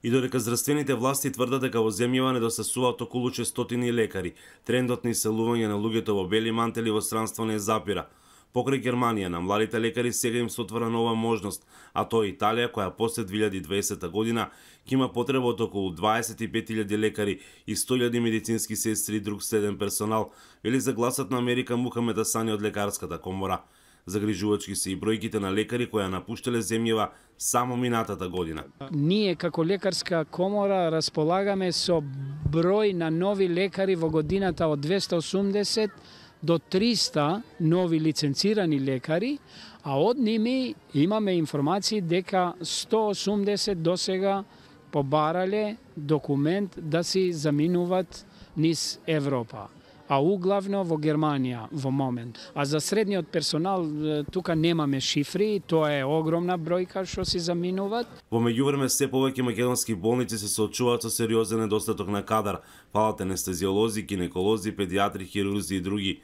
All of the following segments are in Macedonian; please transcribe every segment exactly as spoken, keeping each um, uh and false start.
И додека здравствените власти тврдат дека во земјава недостасуваат околу шестстотини лекари, трендот на иселување на луѓето во бели мантели во странство не запира. Покрај Германија, на младите лекари сега им се отвора нова можност, а тоа е Италија, која после две илјади и дваесета година ќе има потреба од околу дваесет и пет илјади лекари и сто илјади медицински сестри и друг следен персонал, вели за Гласот на Америка Мухамед Асани од Лекарската комора. Загрижувачки се и бројките на лекари кои ја напуштале земјава само минатата година. Ние како Лекарска комора располагаме со број на нови лекари во годината од двеста и осумдесет до триста нови лиценцирани лекари, а од ними имаме информации дека сто и осумдесет досега побарале документ да си заминуваат низ Европа, а углавно во Германија во момент. А за средниот персонал тука немаме шифри, тоа е огромна бројка што си заминуваат. Во меѓувреме се повеќе македонски болници се соочуваат со сериозен недостаток на кадар, фалат анестезиолози, гинеколози, педиатри, хирурзи и други.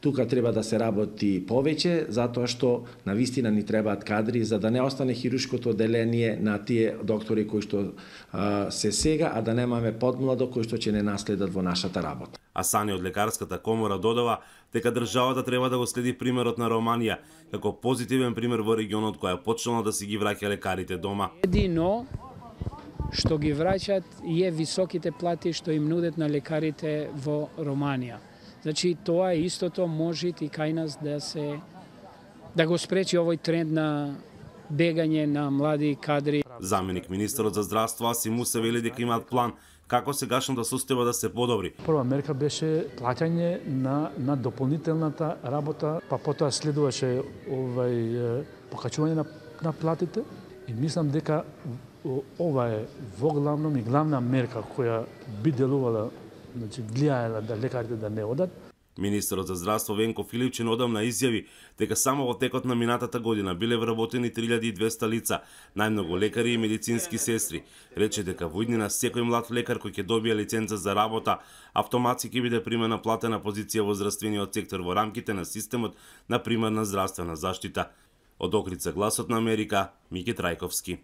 Тука треба да се работи повеќе, затоа што навистина ни требаат кадри за да не остане хируршкото одделение на тие доктори кои што а, се сега, а да немаме подмладо кои што ќе не наследат во нашата работа. Асани од Лекарската комора додава дека државата треба да го следи примерот на Романија како позитивен пример во регионот која почнала да си ги враќа лекарите дома. Едино што ги враќаат е високите плати што им нудат на лекарите во Романија. Значи тоа е истото може и кај нас да се да го спречи овој тренд на бегање на млади кадри. Заменик министерот за здравство Аси Муса вели дека имаат план како сегашната состојба да се подобри. Прва мерка беше плаќање на на дополнителната работа, па потоа следуваше овај покачување на на платите и мислам дека ова е во главном и главна мерка која би делувала, значи влијаела да лекарите да не одат. Министерот за здравство Венко Филипчин одамна изјави дека само во текот на минатата година биле вработени три илјади и двесте лица, најмногу лекари и медицински сестри. Рече дека во иднина секој млад лекар кој ќе добие лиценца за работа, автоматски ќе биде примен на платена позиција во здравствениот сектор во рамките на системот на примарна здравствена заштита. Од Охридска, Гласот на Америка, Мики Трајковски.